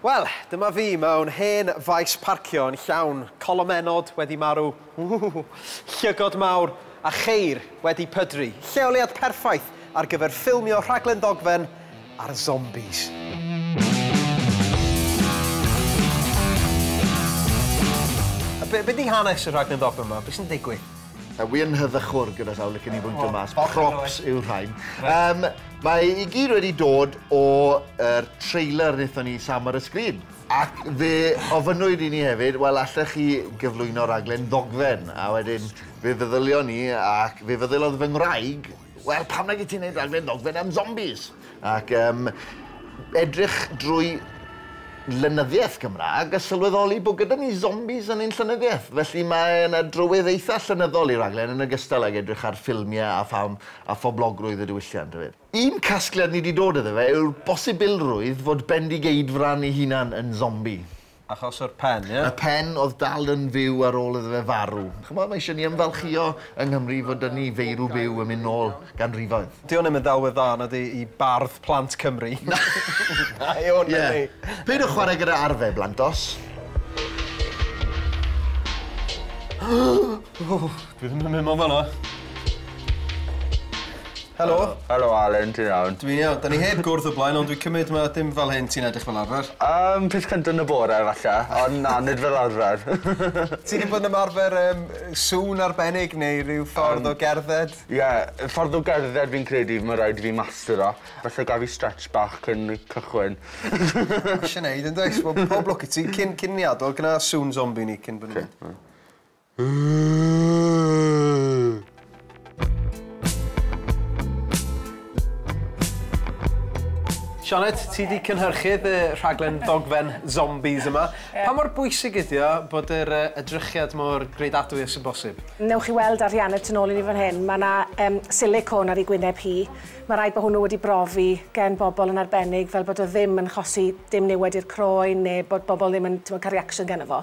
Wel, dyma fi mewn hen faes parcio yn llawn colomenod wedi marw, llygod mawr a cheir wedi pydru. Lleoliad perffaith ar gyfer ffilmio rhaglen ddogfen ar zombies. A be di hanes y rhaglen ddogfen yma? Be sy'n digwydd? Wi yn heddychwr gyda llaw licen i bwyntio mas. Props yw'r rhain. Mae i gyd wedi dod o'r trailer wnaethon ni Sam ar y sgrin. Ac fe ofynnwyd i ni hefyd, wel, allech chi gyflwyno raglen ddogfen? A wedyn fe feddylion ni, ac fe feddyliodd fy ngwraig, wel, pam nag i ti'n gwneud raglen ddogfen am zombies? Ac edrych drwy lenyddiaeth Gymraeg a sylweddoli bod gyda ni zombies yn ein llenyddiaeth. Felly mae yna drywydd eitha llenyddol i raglen yn ogystal ag edrych ar ffilmiau a pham a phoblogrwydd y diwylliant hefyd. Un casgliad ni wedi dod iddo fe yw'r bosibilrwydd fod Bendigeidfran ei hunan yn zombie. Achos o'r pen, ie? Y pen oedd dal yn fyw ar ôl iddo fe farw. Ch'mod, mae eisiau ni ymfalchïo yng Nghymru fod 'da ni feirw byw yn mynd nôl ganrifoedd. Di hwn ddim yn ddelwedd dda nadi i bardd plant Cymru. Na i hwn, nadi. Peidiwch chwarae gyda arfe, blantos. Dwi ddim yn mynd mewn fan'na. Helo. Helo Alan, ti'n iawn? Dwi'n iawn. Da ni heb gwrdd o blaen, ond dwi'n cymryd mae dim fel hyn ti'n edrych fel arfer. Peth cyntaf yn y bore, falle, ond na, nid fel arfer. Ti wedi bod yn ymarfer sŵn arbennig neu rhyw ffordd o gerdded? Ie, yeah, ffordd o gerdded fi'n credu mae rhaid i fi mastero. Falle gaf i stretch bach cyn cychwyn. Eisiau neud yn does? Wel, pob lwc i ti. Cyn ni adael, gyna sŵn zombie ni cyn bod ni'n mynd. Sioned, ti di cynhyrchydd y rhaglen ddogfen zombies yma. Pa mor bwysig ydi o bod yr edrychiad mor greidadwy â sy'n bosib? Newch chi weld ar Rhiannon tu nôl i ni fan hyn, mae yna silicone ar ei gwyneb hi. Mae rhaid bod hwnnw wedi brofi gen bobl yn arbennig fel bod o ddim yn chosi dim niwed i'r croen neu bod bobl ddim yn cael reaction gynno fo.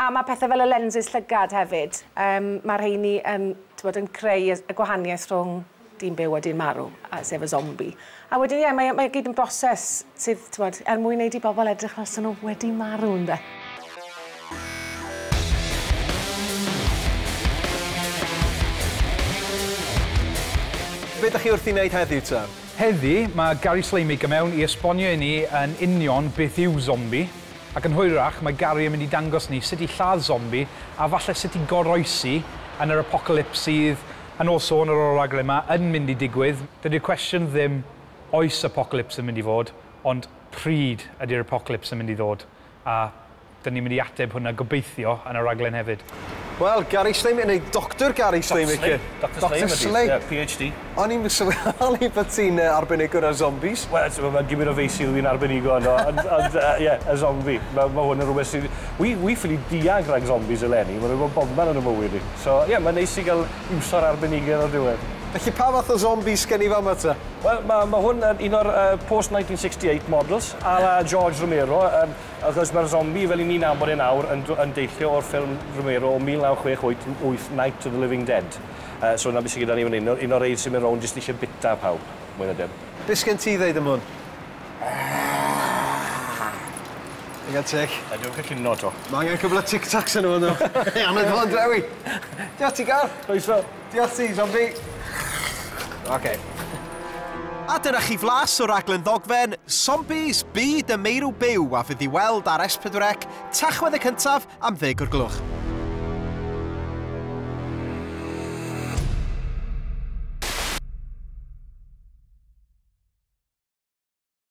A mae pethau fel y lenses llygad hefyd. Mae rheini yn, yn creu y gwahaniaeth rhwng dyn byw a dyn marw, sef y zombie. A wedyn, ie, mae gyd yn broses sydd, t'mod, er mwyn wneud i bobl edrych fel sy'n nhw wedi marw, ynde. Be ydych chi wrth i wneud heddiw, ta? Heddi, mae Gary Slaymaker mewn i esbonio i ni yn union beth yw zombie. Ac yn hwyrach, mae Gary yn mynd i dangos ni sut i lladd zombie a falle sut i goroesi yn yr apocalypse sydd yn ôl sôn ar ôl raglen yma, yn mynd i digwydd. Dydy'r cwestiwn ddim oes apocalypse yn mynd i fod, ond pryd ydy'r apocalypse yn mynd i ddod. A dyn ni'n mynd i ateb hwnna gobeithio yn y raglen hefyd. Wel, Gary Slaymaker, neu Dr Gary Slaymaker. Dr Slay, PhD. O'n i'n sylweddoli bod ti'n arbenigwr ar zombies. Wel, mae'n gymryd o feysydd fi'n arbenigo yno, ond ie, y zombie. Mae hwn yn rhywbeth sydd... Wi ffili diag rhag zombies eleni, mae'n rhywbeth bobman yn y mywyd i. So, ie, mae'n neis i gael iwso'r arbenigedd o'r diwedd. Felly, pa fath o zombies gen i fama ta? Wel, mae hwn yn un o'r post-1968 models, a la George Romero, achos mae'r zombie fel i ni'n nabod e nawr yn deillio o'r ffilm Romero o 1968, Night of the Living Dead. So na beth sydd gyda ni fan hyn, un o'r rei sy'n mynd rownd jyst eisiau bita pawb, mwy na dim. Be sgen ti ddeud am hwn? Digon teg. A dwi'n cael cinio to. Mae angen cwbl o tic-tacs yn hwnnw. Anad fo'n drewi. Diolch ti, Gar. Croeso. Diolch ti, zombie. OK. A dyna chi flas o raglen ddogfen Zombies Byd y Meirw Byw a fydd i weld ar S4C Tachwedd y cyntaf am 10 o'r gloch.